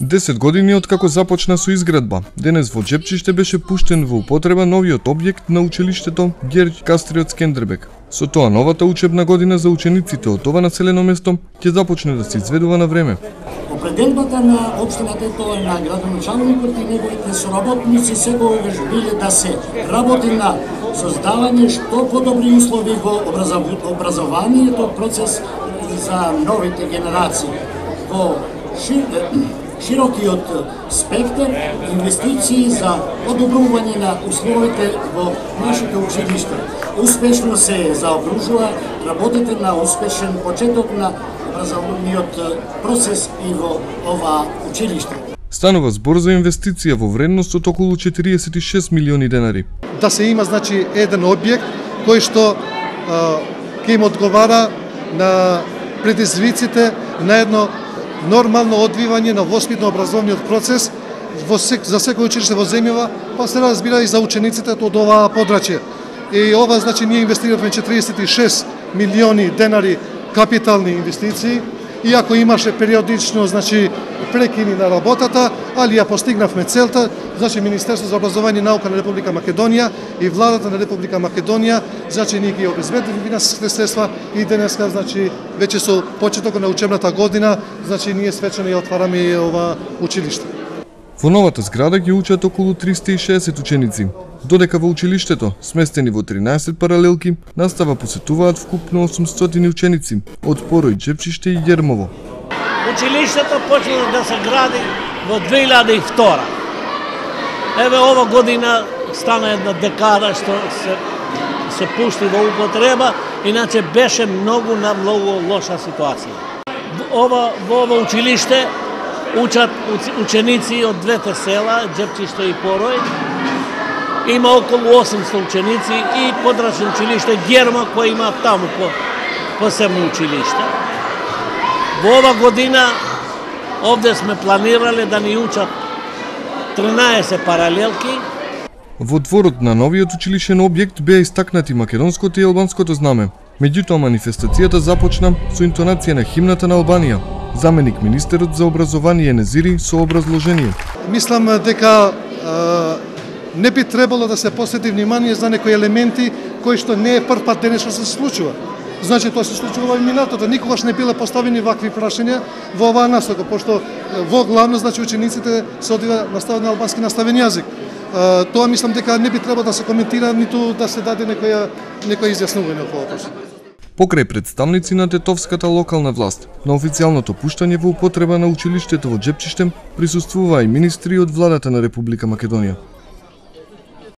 10 години откако започна со изградба, денес во Џепчиште беше пуштен во употреба новиот објект на училиштето Герѓ Кастриот Скендербек. Со тоа новата учебна година за учениците од ова населено место ќе започне да се изведува на време. Определбата на општината и тоа на градоначалникот и неговите соработници секогаш биле да се работи на создавање што подобри услови во образованието процес за новите генерации. Во широкиот спектар инвестиции за подобрување на условите во нашите училишта. Успешно се заокружува работите на успешен почеток на образовниот процес и во ова училиште. Станува збор за инвестиција во вредност од околу 46 милиони денари. Да се има еден објект кој што ќе им одговара на предизвиците на едно нормално одвивање на воспитно-образовниот процес за секој училиште во земјава, па се разбира и за учениците од оваа подрачје. И ова ние инвестиравме 46 милиони денари капитални инвестиции, иако имаше периодично прекини на работата, али ја постигнавме целта. Министерството за образование и наука на Република Македонија и владата на Република Македонија ние ги обезбедили финансиските средства и денеска веќе со почетокот на учебната година ние свечено ја отвараме ова училиште. Во новата зграда ги учат околу 360 ученици, додека во училиштето, сместени во 13 паралелки, настава посетуваат вкупно 800 ученици од Порој, Џепчиште и Јермово. Училиштето почна да се гради во 2002. Еве ова година стана една декада што се пушти во употреба, иначе беше многу лоша ситуација. Во ова училиште учат ученици од двете села, Џепчиште и Порој. Има околу 800 ученици и подрачно училиште Герма, кој има таму посебно училиште. Во ова година овде сме планирале да ни учат 13 паралелки. Во дворот на новиот училишен објект беа истакнати македонското и албанското знаме. Меѓутоа манифестацијата започна со интонација на химната на Албанија. Заменик министерот за образование Незири со образложение. Мислам дека не би требало да се посвети внимание за некои елементи кои што не е прв пат денес што се случува. Тоа се случува и минатото. Никогаш не биле поставени вакви прашања во оваа насока, пошто во главно учениците се одива настават на албански наставен јазик. Тоа мислам дека не би требало да се коментира, ниту да се даде некоја изјаснување околу тоа. Покрај представници на тетовската локална власт, на официјалното пуштање во употреба на училиштето во Џепчиште присуствуваа и министри од владата на Република Македонија.